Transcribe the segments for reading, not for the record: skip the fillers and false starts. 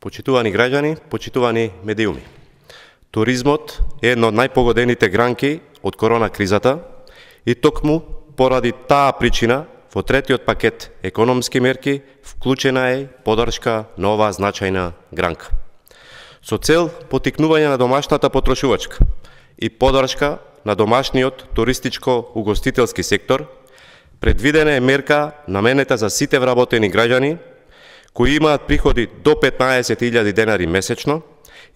Почитувани граѓани, почитувани медиуми. Туризмот е една од најпогодените гранки од корона кризата и токму поради таа причина во третиот пакет економски мерки вклучена е поддршка на оваа значајна гранка. Со цел поттикнување на домашната потрошувачка и поддршка на домашниот туристичко-угостителски сектор, предвидена е мерка наменета за сите вработени граѓани кои имаат приходи до 15.000 денари месечно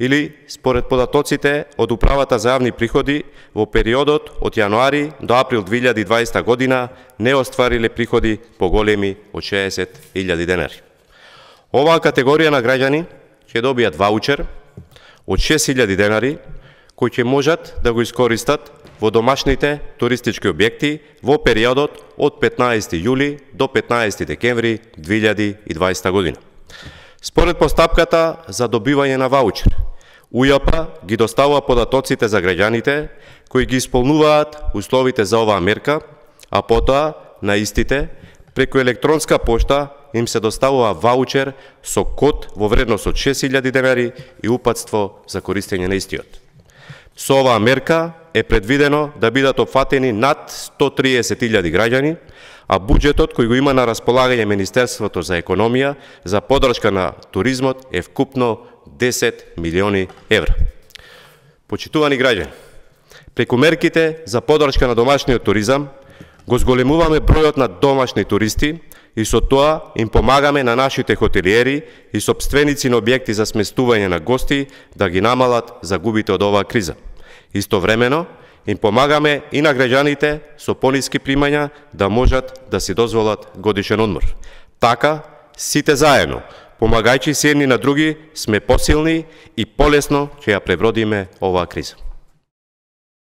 или според податоците од Управата за јавни приходи во периодот од јануари до април 2020 година не оствариле приходи поголеми од 60.000 денари. Оваа категорија на граѓани ќе добијат ваучер од 6.000 денари кои ќе можат да го искористат во домашните туристички објекти во периодот од 15 јули до 15 декември 2020 година. Според постапката за добивање на ваучер, УЈП ги доставува податоците за граѓаните кои ги исполнуваат условите за оваа мерка, а потоа на истите преку електронска пошта им се доставува ваучер со код во вредност од 6.000 денари и упатство за користење на истиот. Со оваа мерка е предвидено да бидат опфатени над 130.000 граѓани, а буџетот кој го има на располагање Министерството за економија за поддршка на туризмот е вкупно 10 милиони евра. Почитувани граѓани, преку мерките за поддршка на домашниот туризам го зголемуваме бројот на домашни туристи и со тоа им помагаме на нашите хотелиери и сопственици на објекти за сместување на гости да ги намалат загубите од оваа криза. Истовремено им помагаме и на граѓаните со пониски примања да можат да си дозволат годишен одмор. Така, сите заедно, помагајќи се едни на други, сме посилни и полесно ќе ја пребродиме оваа криза.